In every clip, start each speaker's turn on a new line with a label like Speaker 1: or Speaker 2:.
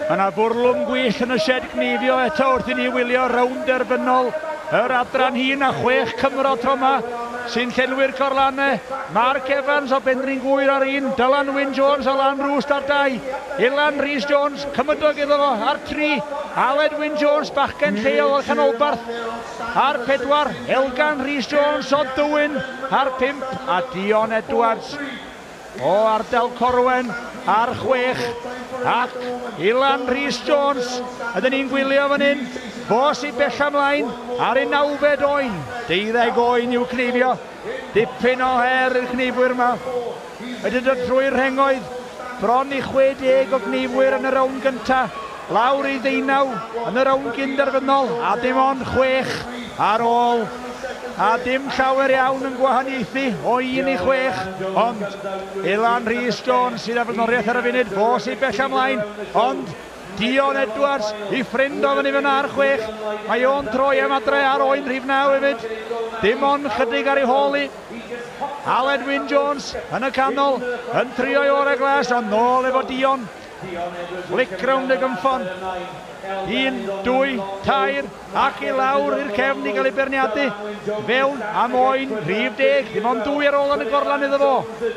Speaker 1: Mae yna fwrlwm gwyllt yn y sied gneifio eto wrth i ni wylio rownd derfynol yr adran hŷn a 6 Cymro tro yma sy'n llenwi'r corlannau. Mark Evans o Benrhyn Gŵyr ar 1, Dylan Wyn Jones o Lanrwst ar 2, Ilan Rhys Jones, cymydog iddo fo, ar 3, Aled Wyn Jones, bachgen lleol o'r Canolbarth, ar 4, Elgan Rhys Jones o Dywyn ar 5, a Dion Edwards o ardal Corwen ar 6, ac Ilan Rhys Jones, ydyn ni'n gwylio fan hyn, fo sy'n bell ymlaen ar ei 9fed oen, 12 oen i'w cneifio, dipyn o her i'r cneifwyr yma. Wedi dod trwy'r rhengoedd, bron i 60 o gneifwyr yn y rownd gyntaf, lawr i 19 yn y rownd gynderfynol, a dim ond 6 ar ôl, a dim llawer iawn yn gwahaniaethu o 1 i 6, ond Ilan Rhys Jones sydd â flaenoriaeth ar y funud, fo sy'n bell ymlaen, ond Dion Edwards i ffrind o fyny fyna ar 6, mae o'n troi am adre ar oen rhif 9 hefyd, dim ond chydig ar ei hôl i. Aled Wyn Jones yn y canol, yn trio i orau glas, ond nôl efo Dion. Flic rownd y gynffon. 1, 2, 3, ac i lawr i'r cefn i gael ei berniadu. Fewn am oen rhif 10, dim ond 2 ar ôl yn y gorlan iddo fo.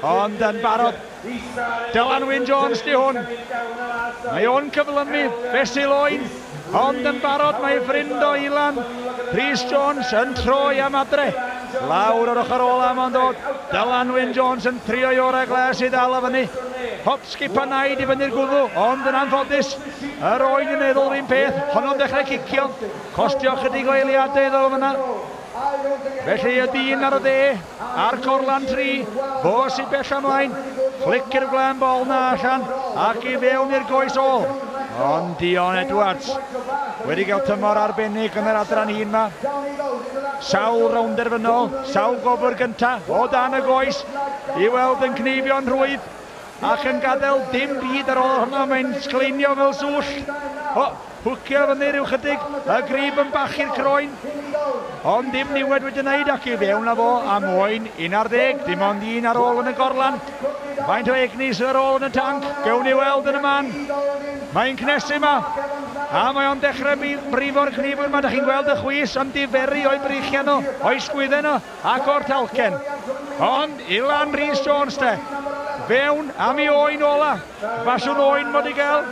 Speaker 1: Ond yn barod, Dylan Wyn Jones di hwn. Mae o'n cyflymu fesul oen, ond yn barod mae ffrind o Ilan, Rhys Jones, yn troi am adre. Lawr o'r ochr ola mae'n dod. Dylan Wyn Jones yn trio i orau glas i ddal o fyny. Hop, skip a naid i fyny'r gwddw, ond yn anffodus, yr oen yn meddwl yr un peth, honno'n dechrau cicio, costio chydig o eiliadau iddo fo fyna. Felly y dyn ar y dde, a'r corlan 3, fo sy'n bell ymlaen, flic i'r gwlân bol na allan, ac i fewn i'r goes ôl. Ond Dion Edwards wedi cael tymor arbennig yn yr adran hŷn yma. Sawl rownd derfynol, sawl gofr gyntaf o dan y goes i weld yn cneifio'n rhwydd ac yn gadael dim byd ar ôl honno, mae'n sgleinio fel swll. O, hwcio fyny rhyw chydig, y grib yn bachu'r croen, ond dim niwed wedi wneud ac i fewn â fo am oen 11, dim ond un ar ôl yn y gorlan. Faint o egni sydd ar ôl yn y tanc, gewn ni weld yn y man. Mae'n cnesu yma, a mae o'n dechrau brifo'r cnifwyr yma, da chi'n gweld y chwys yn diferu o'i breichiau nhw, o'i sgwyddau nhw, ac o'r talcen. Ond Ilan Rhys Jones te, fewn am ei oen ola, fasiwn oen mod i gael.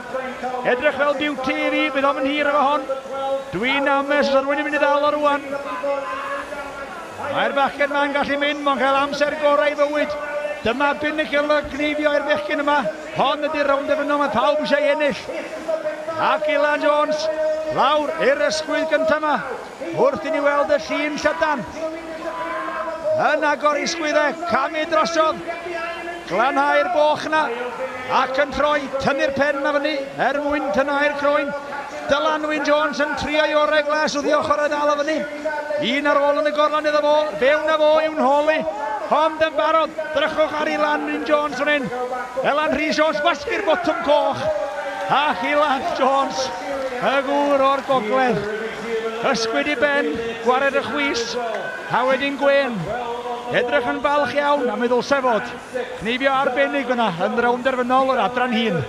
Speaker 1: Edrych fel beauty i fi, bydd o'm yn hir efo hon. Dwi'n ames os rwy'n mynd i ddal o rwan. Mae'r bachgen ma'n gallu mynd, mae'n cael amser gorau i fywyd. Dyma binnacle y gneifio i'r bechgyn yma. Hon ydy'r rownd derfynol, mae pawb eisiau ennill. Ac Ilan Jones, lawr i'r ysgwydd gyntaf yma, wrth i ni weld y llun llydan. Yn agor i sgwyddau, camu drosodd, glanhau'r boch yna, ac yn troi, tynnu'r pen yma fyny, er mwyn tynhau'r croen. Dylan Wyn Jones yn trio i orau glas wrth i ochr y ddal o fyny. Un ar ôl yn y gorlan iddo fo, fewn â fo i'w nhôl i. Ond yn barod, drychwch ar Ilan Wyn Jones fan hyn. Elan Rhys Jones, wasgu'r botwm coch. Ac Ilan Jones, y gŵr o'r gogledd. Ysgwyd i ben, gwared y chwys, a wedyn gwên. Edrych yn falch iawn, a mi ddylse fod. Cneifio arbennig fyna yn rownd derfynol yr adran hŷn.